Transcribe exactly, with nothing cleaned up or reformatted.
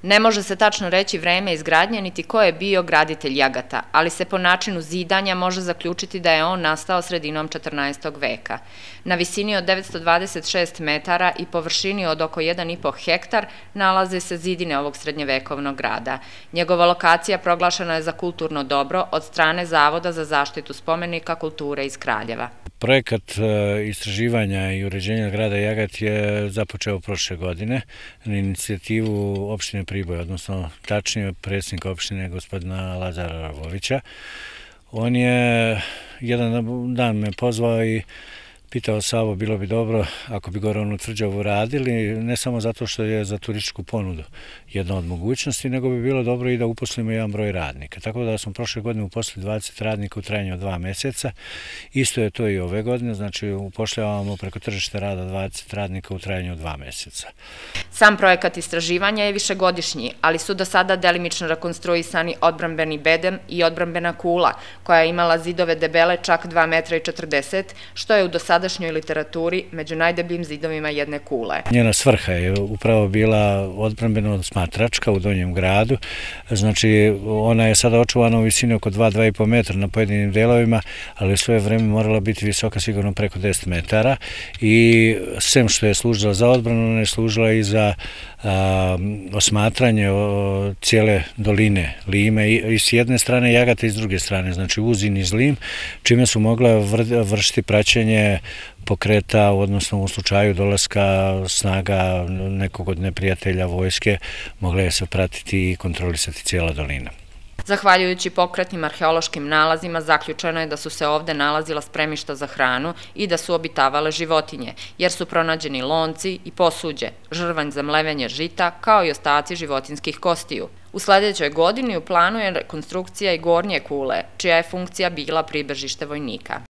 Ne može se tačno reći vreme izgradnje niti ko je bio graditelj Jagata, ali se po načinu zidanja može zaključiti da je on nastao sredinom četrnaestog veka. Na visini od devetsto dvadeset šest metara i površini od oko jedan i po hektar nalaze se zidine ovog srednjevekovnog grada. Njegova lokacija proglašena je za kulturno dobro od strane Zavoda za zaštitu spomenika kulture iz Kraljeva. Projekat istraživanja i uređenja grada Jagat je započeo prošle godine na inicijativu opštine Priboj, odnosno tačnije predsjednika opštine gospodina Lazara Ravovića. On je jedan dan me pozvao i pitao Savo, bilo bi dobro ako bi gore onu tvrđavu radili, ne samo zato što je za turističku ponudu jedna od mogućnosti, nego bi bilo dobro i da uposlimo jedan broj radnika. Tako da smo prošle godine uposlili dvadeset radnika u trajanju od dva mjeseca. Isto je to i ove godine, znači upošljavamo preko tržišta rada dvadeset radnika u trajanju od dva mjeseca. Sam projekat istraživanja je višegodišnji, ali su do sada delimično rekonstruisani odbrambeni bedem i odbrambena kula, koja je imala zidove debele čak dva metra i četrdeset, što je u dosadašnjoj literaturi među najdebljim zidovima jedne kule. Njena svrha je upravo bila odbrambeno smatračka u Donjem gradu, znači ona je sada očuvana u visini oko dva do dva i po metra na pojedinim delovima, ali u svoje vreme morala biti visoka sigurno preko deset metara i sem što je služila za odbranu, ona je služila i za a, osmatranje o, cijele doline Lime i, i s jedne strane Jagata i s druge strane, znači uz i niz Lim, čime su mogla vr, vršiti praćenje pokreta, odnosno u slučaju dolaska snaga nekog od neprijatelja vojske, mogla je se pratiti i kontrolisati cijela dolina. Zahvaljujući pokretnim arheološkim nalazima, zaključeno je da su se ovde nalazila spremišta za hranu i da su obitavale životinje, jer su pronađeni lonci i posuđe, žrvanj za mlevenje žita, kao i ostaci životinskih kostiju. U sledećoj godini u planu je rekonstrukcija i gornje kule, čija je funkcija bila pribežište vojnika.